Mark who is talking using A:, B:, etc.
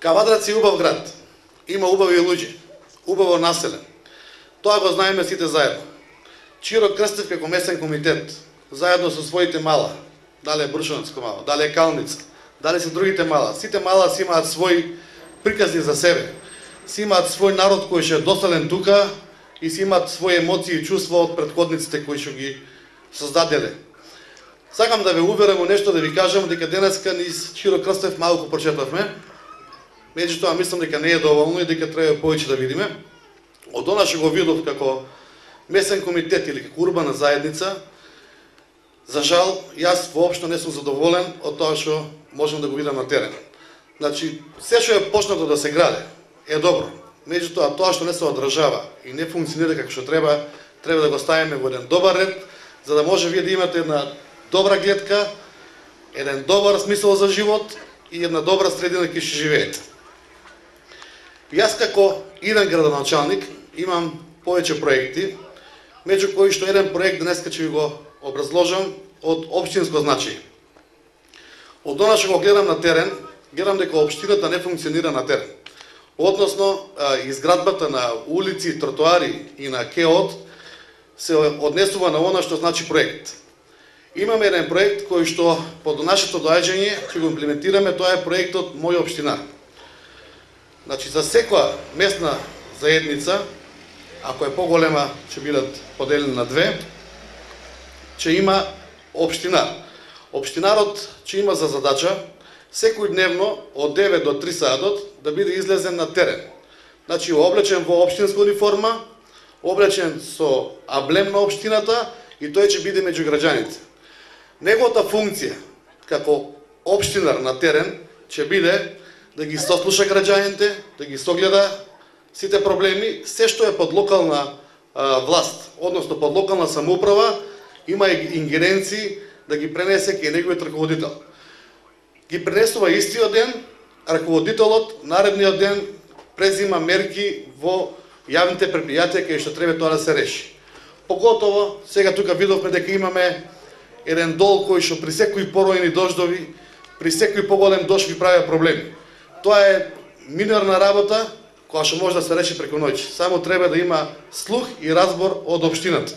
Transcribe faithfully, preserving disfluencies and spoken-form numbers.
A: Кавадарци е убав град. Има убави луѓе, убаво населен. Тоа го знаеме сите заедно. Чиро Крстев како местен комитет, заедно со своите мала, дали е Брушановско мало, дали е Калница, дали се другите мала, сите мала си имаат свој приказни за себе. Си имаат свој народ кој ќе е доселен тука и си имаат своји емоции и чувства од претходниците кои што ги создаделе. Сакам да ве уверам во нешто, да ви кажам дека денеска низ Чиро Крстев малку прочетавме. Меѓутоа мислам дека не е доволно и дека треба повеќе да видиме. Од она што го видов како местен комитет или како урбана заедница, за жал, јас воопшто не сум задоволен од тоа што можам да го видам на терен. Значи, се што е почнато да се граде е добро. Меѓутоа, тоа што не се одржава и не функционира како што треба, треба да го ставиме во еден добар ред, за да може вие да имате една добра гледка, еден добар смисол за живот и една добра средина кај што живеете. Јас како иден градоначалник имам повеќе проекти, меѓу кои што еден проект денеска ќе ви го образложам од општинско значај. Од она што го гледам на терен, гледам дека општината не функционира на терен. Односно, изградбата на улици, тротоари и на КЕОД се однесува на она што значи проект. Имаме еден проект кој што по нашето доаѓање ќе го имплементираме, тоа е проектот Моја општина. Значи, за секоја местна заедница, ако е поголема, ќе бидат поделени на две, ќе има општинар. Општинарот ќе има за задача секој дневно од девет до три саатот да биде излезен на терен. Значи, облечен во општинска униформа, облечен со аблем на општината и тој ќе биде меѓу граѓаните. Неговата функција како општинар на терен ќе биде да ги сослуша граѓаните, да ги согледа сите проблеми, се што е под локална а, власт, односно под локална самоуправа, има и ингеренции да ги пренесе кај неговиот раководител. Ги пренесува истиот ден, раководителот наредниот ден презима мерки во јавните предпријатија кај што треба тоа да се реши. Поготово, сега тука видовме дека имаме еден дол кој што при секои поројни дождови, при секој поголем дожд ви прави проблеми. Тоа е минорна работа која што може да се реши преку ноќ. Само треба да има слух и разбор од општината.